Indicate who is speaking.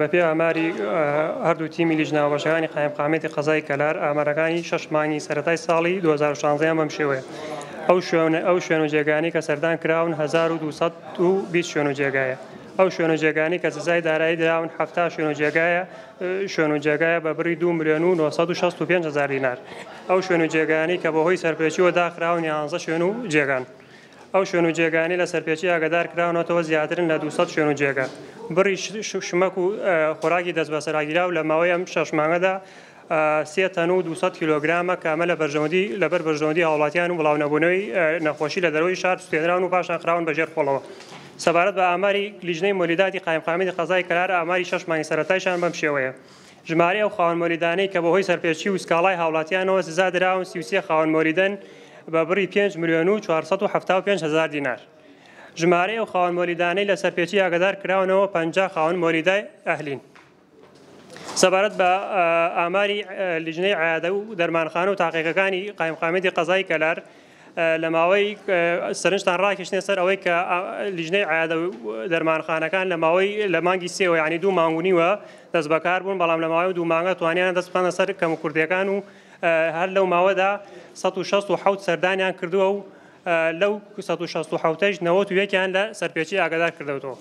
Speaker 1: بەپێی ئاماری هەردوو تیمی لیژنە هاوبەشەکانی قایمقامیەتی قەزای کەلار، ئامارەکانی شەش مانگی سەرەتای ساڵی 2016 یان بەم شێوەیە، ئەو شوێن ئەو شوێن و جێگانەی کە سەردان کراون 1220 شوێن و جێگایە، ئەو شوێن و جێگانەی کە سزای دارایی دراون 70 شوێن و جێگایە شوێن و جێگایە بە بڕی 2 ملیۆن و 965 هەزار دینار، ئەو شوێن و جێگانەی کە بەهۆی سەرپێچیەوە داخراون 11 شوێن و جێگان. ئەو شوێن و جێگایانەی لە سەرپێچی ئاگادار کراونەتەوە زیاترن لە 200 شوێن و جێگا. بڕی شمەک و خۆراکی دەستبەسەراگیراو لە ماوەی ئەم شەش مانگەدا سێ تەن و 200 کیلۆگرامە کە ئەمە لە بەرژەوەندی لەبەر بەرژەوەندی هاوڵاتیان و بڵاونەبوونەوەی نەخۆشی لە دەرەوەی شار سوتێنراون و پاشان خراون بە ژێر خۆڵەوە. سەبارەت بە ئاماری لیژنەی مۆلیداتی قایمقامیەتی قەزای کەلار ئاماری شەش مانگی سەرەتایشان بەم شێوەیە. ژمارەی ئەو خاوەن مۆلیدانەی کە بەهۆی سەرپێچی و سکاڵای هاوڵاتیانەوە سزا دراون 33 خاوەن مۆلیدەن بە بڕی 5 ملیۆن و 475 هەزار دینار. ژمارەی ئەو خاوەن مۆلیدانەی لە سەرپێچی ئاگادار کراونەوە 50 خاوەن مۆلیدای ئەهلین. سەبارەت بە ئاماری لیژنەی عیادە و دەرمانخانە و تاقیگەکانی قایمقامیەتی قەزای کەلار لە ماوەی سەرنجتان ڕاکێشنە سەر ئەوەی کە لیژنەی عیادە و دەرمانخانەکان لە ماوەی لە مانگی سێوە یعنی دوو مانگ و نیوە دەست بەکار بوون، بەڵام لە ماوەی دوو مانگە توانیان دەست بخەنە سەر کەموکورتیەکان و هەر لەو ماوەدا 167 سەردانیان کردووە و لەو 167ش 91یان لە سەرپێچی ئاگادار کردەوەتەوە.